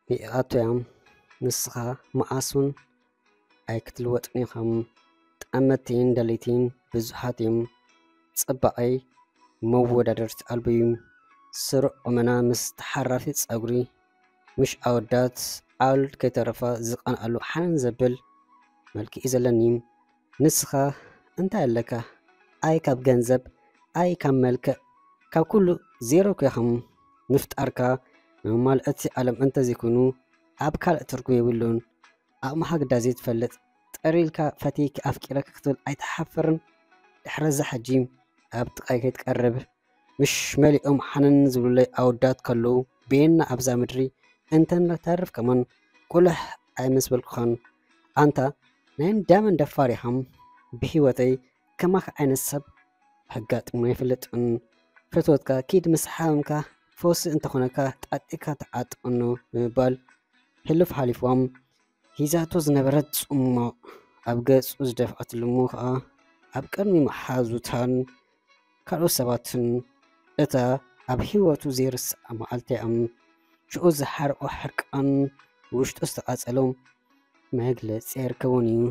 ንኢኣቶያም ንስኻ መኣሱን ኣይክትልወጥን ኢኻም። ጠመቲን ደሊቲን ብዙሓት እዮም። ጽባቐይ መወዳደርቲ ኣልቦ እዩ። ስሩዕ ቁመና ምስ ተሓራፊ ጸጉሪ፣ ምሽ ኣወዳት ዓል ከይተረፋ ዝቐንኣሉ ሓነን ዘብል መልክዕ እዩ ዘለኒ። ንስኻ እንታይ ኣለካ? ኣይ ካብ ገንዘብ፣ ኣይ ካብ መልክዕ፣ ካብ ኩሉ ዜሮ እኮ ኢኻም። ምፍጣርካ ንመማልእቲ ዓለም እንተዘይኮይኑ ኣብ ካልእ ትርጉም የብሉን። ኣቕምኻ ግዳ ዘይትፈልጥ፣ ጥር ኢልካ ፈትየኪ ኣፍቂረኪ ክትብል ኣይትሓፍርን? ድሕረዛ ሕጂ ኣብ ጥቓይ ከይትቀርብ፣ ምሽ መሊኦም ሓነን ዝብሉለይ ኣወዳት ከለዉ፣ ቤና ኣብዛ ምድሪ እንተነተርፍ ከማን ቁልሕ ኣይመስበልኩኻን። ኣንታ ናይ እንዳመን ደፋር ኢኻም? ብህይወተይ ከማኻ ዓይነት ሰብ ኣጋጥሞ ኣይፈልጥን። ፍትወትካ ኪድ ምስ ሓመምካ፣ ፈውሲ እንተኾነካ ጣጢካ ተዓጥቕኖ ብምባል ሕሉፍ ሓሊፍዋም ሒዛቶ ዝነበረት ጽሟቕ ኣብ ገጹ ዝደፍኣትሉ እሞ ኸኣ ኣብ ቅድሚ መሓዙታን ካልኦት ሰባትን እታ ኣብ ህይወቱ ዘይርስዓ መዓልቲ እያ። ሽዑ ዝሓርቆ ሕርቃን ውሽጡ ዝተቓጸሎ መግለጺ ኣይርከቦን እዩ።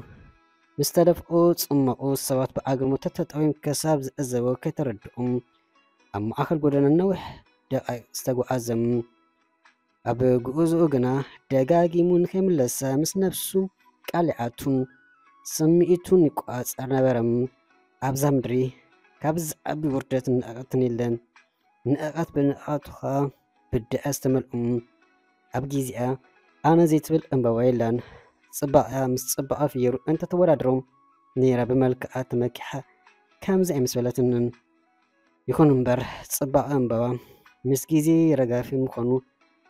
ምስ ተደፍኦ ጽማቑ ሰባት ብኣግርሞት ተተጠውዮም ክሳብ ዝዕዘቦ ከይተረድኦም ኣብ ማእከል ጎደና ነዊሕ ደቓይቕ ዝተጓዓዘ። ኣብ ጉዕዞኡ ግና ደጋጊሙ ንኸይምለሳ ምስ ነብሱ ቃል ይኣቱን ስምዒቱን ይቆጻጸር ነበረ። ኣብዛ ምድሪ ካብ ዝዓቢ ውርደት ንዕቐትን የለን። ንዕቐት ብንዕቐቱ ኸኣ ብድዐ ዝተመልኡ። ኣብ ግዜኣ ኣነ ዘይትብል ዕምባባ የላን። ጽባቐኣ ምስ ጽባቐ ፍየሩ እንተተወዳድሮ ነይራ ብመልክዓ ተመኪሓ ከምዚ ኣይምስበለትንን። ይኹን እምበር ጽባቐ ዕምባባ ምስ ግዜ ረጋፊ ምዃኑ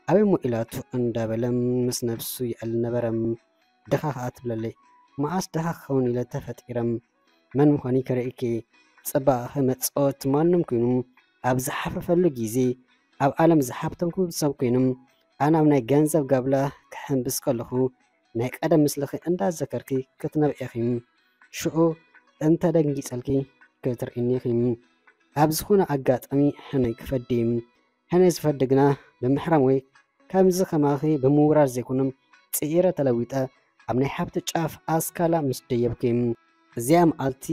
ኣበይ እሞ ኢላቶ እንዳበለ ምስ ነብሱ ይዕልል ነበረ። ድኻ ኸኣ ትብለለይ። መኣስ ድኻ ክኸውን ኢለ ተፈጢረ? መን ምዃነይ ከርእየኪ? ጽባቐኺ መጻወቲ ማንም ኮይኑ ኣብ ዝሓፈፈሉ ግዜ ኣብ ዓለም ዝሃብተምኩ ሰብ ኮይኑ ኣነ ኣብ ናይ ገንዘብ ጋብላ ክሕምብስ ከለኹ ናይ ቀደም ምስልኺ እንዳዘከርኪ ክትነብዒ ኢኺ። ሽዑ እንተ ደንጊጸልኪ ክትርእይኒ ኢኺ። ኣብ ዝኾነ ኣጋጣሚ ሕነ ክፈዲ። ሕነ ዝፈዲ ግና ብምሕራም ወይ ከምዚ ከማኺ ብምውራር ዘይኮነ፣ ጽዒረ ተለዊጠ ኣብ ናይ ሃብቲ ጫፍ ኣስካላ ምስ ደየብኩ። እዚኣ መዓልቲ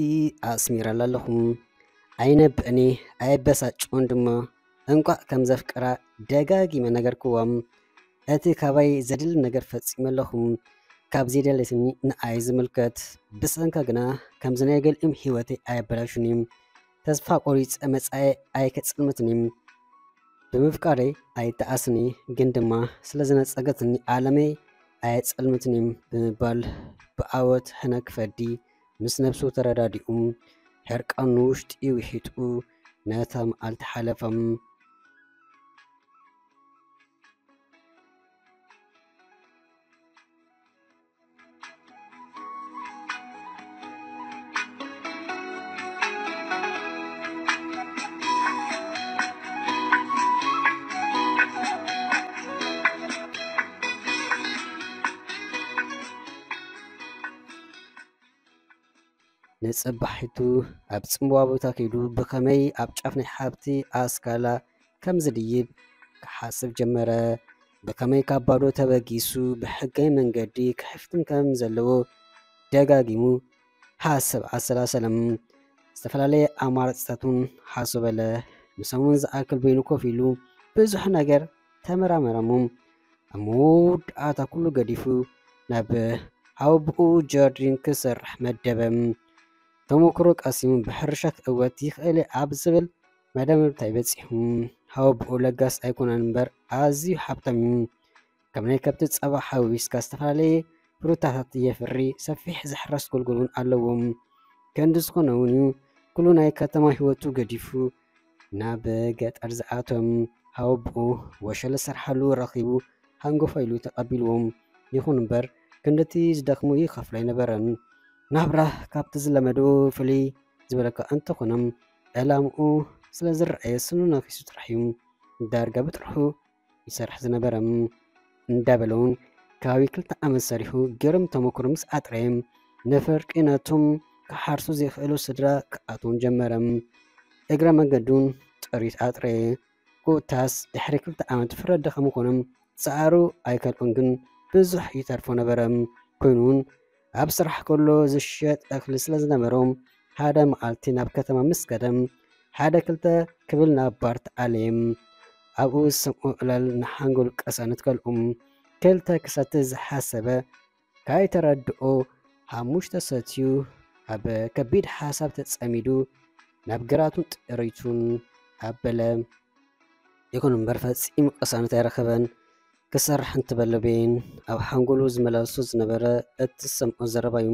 ኣስሚረላ ኣለኹ። ኣይነብዕኒ፣ ኣየበሳጭዎን ድማ። እንቋዕ ከም ዘፍቅራ ደጋጊመ ነገርክዋ። እቲ ካባይ ዘድሊ ነገር ፈጺመ ኣለኹ። ካብ ዘይደለትኒ ንኣይ ዝምልከት። ብሰንካ ግና ከምዚ ናይ ገሊኦም ህይወተይ ኣየበላሹን እዩ። ተስፋ ቆሪጸ መጻኤ ኣይከጽልምትን እዩ። ብምፍቃረይ ኣይተኣስኒ፣ ግን ድማ ስለ ዝነጸገትኒ ዓለመይ ኣየጸልምትን እዩ ብምባል ብዓወት ሕነ ክፈዲ ምስ ነብሱ ተረዳዲኡ ሕርቃኑ ውሽጢ ውሒጡ ነታ መዓልቲ ሓለፈ። ንጽባሒቱ ኣብ ጽምዋ ቦታ ከይዱ ብኸመይ ኣብ ጫፍ ናይ ሃብቲ ኣስካላ ከም ዝድይብ ክሓስብ ጀመረ። ብኸመይ ካብ ባዶ ተበጊሱ ብሕጋዊ መንገዲ ክሕፍትም ከም ዘለዎ ደጋጊሙ ሓሰብ ኣሰላሰለም። ዝተፈላለየ ኣማራጽታት እውን ሓሶበለ። ንሰሙን ዝኣክል በይኑ ኮፍ ኢሉ ብዙሕ ነገር ተመራመረሞ። ኣብ መወዳእታ ኩሉ ገዲፉ ናብ ሓወቦኡ ጀርዲን ክሰርሕ መደበ። ተመክሮ ቀሲሙ ብሕርሻ ክእወት ይኽእል ኣብ ዝብል መደምደምታ ይበጺሑ። ሓወቦኡ ለጋስ ኣይኮነን እምበር ኣዝዩ ሃብታም እዩ። ከም ናይ ከብቲ ጸባ ሓዊስካ ዝተፈላለየ ፍሩታታት የፍሪ፣ ሰፊሕ ዝሕረስ ጎልጎል እውን ኣለዎም። ክንዲ ዝኾነ እውን እዩ ኩሉ ናይ ከተማ ህይወቱ ገዲፉ ናብ ገጠር ዝኣቶም። ሓወቦኡ ወሸለ ዝሰርሓሉ ረኺቡ ሃንጎፋ ኢሉ ተቐቢልዎም። ይኹን እምበር ክንድቲ ዝደኽሞ ይኸፍሎ ኣይነበረን። ናብራ ካብቲ ዝለመዶ ፍልይ ዝበለካ እንተኾነ ዕላምኡ ስለ ዝረኣየ ስኑ ነኺሱ ጥራሕ እዩ ዳርጋ ብጥርሑ ይሰርሕ ዝነበረ። እንዳበለ እውን ከባቢ ክልተ ዓመት ሰሪሑ ግርም ተመክሮ ምስ ኣጥረየ ንፍርቂ ነቶም ክሓርሱ ዘይኽእሉ ስድራ ክኣትዎም ጀመረ። እግረ መንገዱን ጥሪት ኣጥረየ። ኮታስ ድሕሪ ክልተ ዓመት ፍረ ድኻም ኮነ ጻዕሩ ኣይከልኦን ግን ብዙሕ ይተርፎ ነበረ። ኮይኑ እውን ኣብ ስራሕ ከሎ ዝሸጥ እኽሊ ስለ ዝነበሮም ሓደ መዓልቲ ናብ ከተማ ምስ ከደም ሓደ ክልተ ክብል ናብ ባር ተኣለየም። ኣብኡ ዝሰምዖ ዕላል ንሓንጎሉ ቀሳነት ከልኡም ክልተ ክሰቲ ዝሓሰበ ካይተረድኦ ሓሙሽተ ሰትዩ ኣብ ከቢድ ሓሳብ ተጸሚዱ ናብ ግራቱን ጥሪቱን ኣበለ። ይኹን እምበር ፈጺሙ ቅሳነት ኣይረኸበን። ክሰርሕ እንትበለ ቤን ኣብ ሓንጎሉ ዝመላለሱ ዝነበረ እቲ ዝሰምዖ ዘረባዩ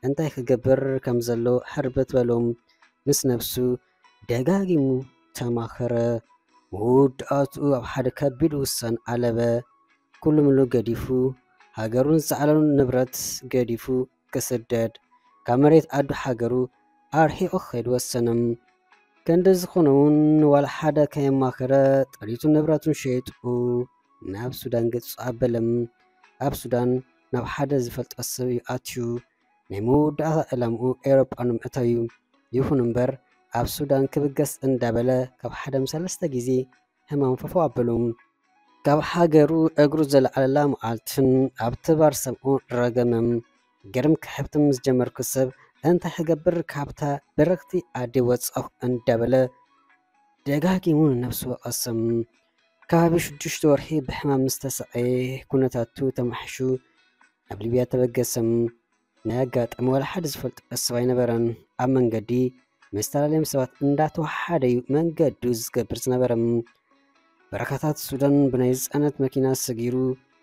እንታይ ክገብር ከም ዘሎ ሕርበት በሎም ምስ ነብሱ ደጋጊሙ ተማኸረ። መወዳእትኡ ኣብ ሓደ ከቢድ ውሳን ኣለበ። ኩሉ ምሉ ገዲፉ ሃገሩን ዝዓለሉን ንብረት ገዲፉ ክስደድ ካብ መሬት ኣዱ ሃገሩ ኣርሒቑ ክኸይድ ወሰነ። ክንዲ ዝኾነ እውን ዋላ ሓደ ከየማኸረ ጥሪቱን ንብረቱን ሸይጡ ናብ ሱዳን ገጹ ኣበለ። ኣብ ሱዳን ናብ ሓደ ዝፈልጦ ሰብ እዩ ኣትዩ። ናይ መወዳእታ ዕላምኡ ኤውሮጳ ንምእታው እዩ። ይኹን እምበር ኣብ ሱዳን ክብገስ እንዳበለ ካብ ሓደ ምስ ሰለስተ ግዜ ሕማም ፈፈው ኣበሉ። ካብ ሃገሩ እግሩ ዘለዓለላ መዓልትን ኣብቲ ባር ሰብኡ ረገመ። ግርም ክሕብቲ ምስ ጀመርኩ ሰብ እንታይ ክገብር ካብታ በረኽቲ ዓዲ ወጻኹ እንዳበለ ደጋጊሙ ንነብሱ ወቐሰ። ከባቢ ሽዱሽተ ወርሒ ብሕማም ምስ ተሰቐየ ኩነታቱ ተማሕሹ ናብ ሊብያ ተበገሰ። ናይ ኣጋጣሚ ዋላ ሓደ ዝፈልጦ ሰብ ኣይነበረን። ኣብ መንገዲ መስተላለዮም ሰባት እንዳተወሓደ እዩ መንገዱ ዝገብር ዝነበረ። በረኻታት ሱዳን ብናይ ዝጸነት መኪና ሰጊሩ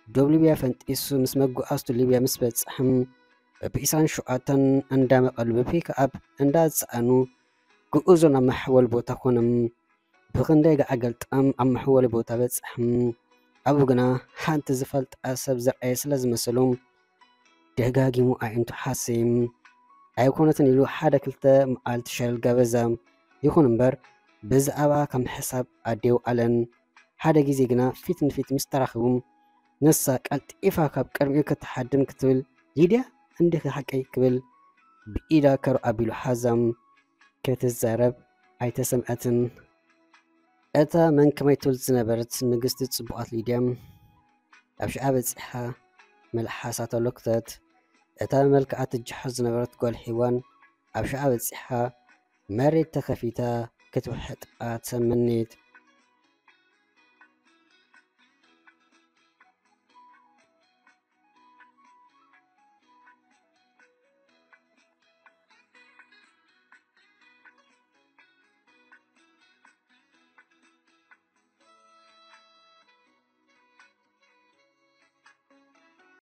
ዶብ ሊብያ ፈንጢሱ ምስ መጓዓዝቱ ሊብያ ምስ በጽሐም በብኢሳን ሸውዓተን እንዳመቐሉ ብፒክኣፕ እንዳጸዓኑ ጉዕዞ ናብ መሐወል ቦታ ኮነም። ብኽንደይ ገዓ ገልጣም ኣብ መሐወሊ ቦታ በጽሐም። ኣብኡ ግና ሓንቲ ዝፈልጣ ሰብ ዝረኣየ ስለ ዝመሰሉ ደጋጊሙ ኣዒንቱ ሓሰየም። ኣይኮነትን ኢሉ ሓደ ክልተ መዓልቲ ሸለል ጋበዛ። ይኹን እምበር ብዛዕባ ካብ ምሕሳብ ኣዴው ኣለን። ሓደ ግዜ ግና ፊት ንፊት ምስ ተራኸቡ ንሳ ቀልጢፋ ካብ ቅድሚኡ ክትሓድም ክትብል ሊድያ እንዲኺ ሓቀይ ክብል ብኢዳ ከር ኣቢሉ ሓዛም። ክትዛረብ ኣይተሰምዐትን። እታ መን ከመይ ትብል ዝነበረት ንግስቲ ጽቡቓት ሊድያ ኣብ ሽዓ በጺሓ መልሓሳ ተሎክተት። እታ መልክዓ ትጅሖ ዝነበረት ጓል ሒዋን ኣብ ሽዓ በጺሓ መሬት ተኸፊታ ክትውሕጣ ተመኔት።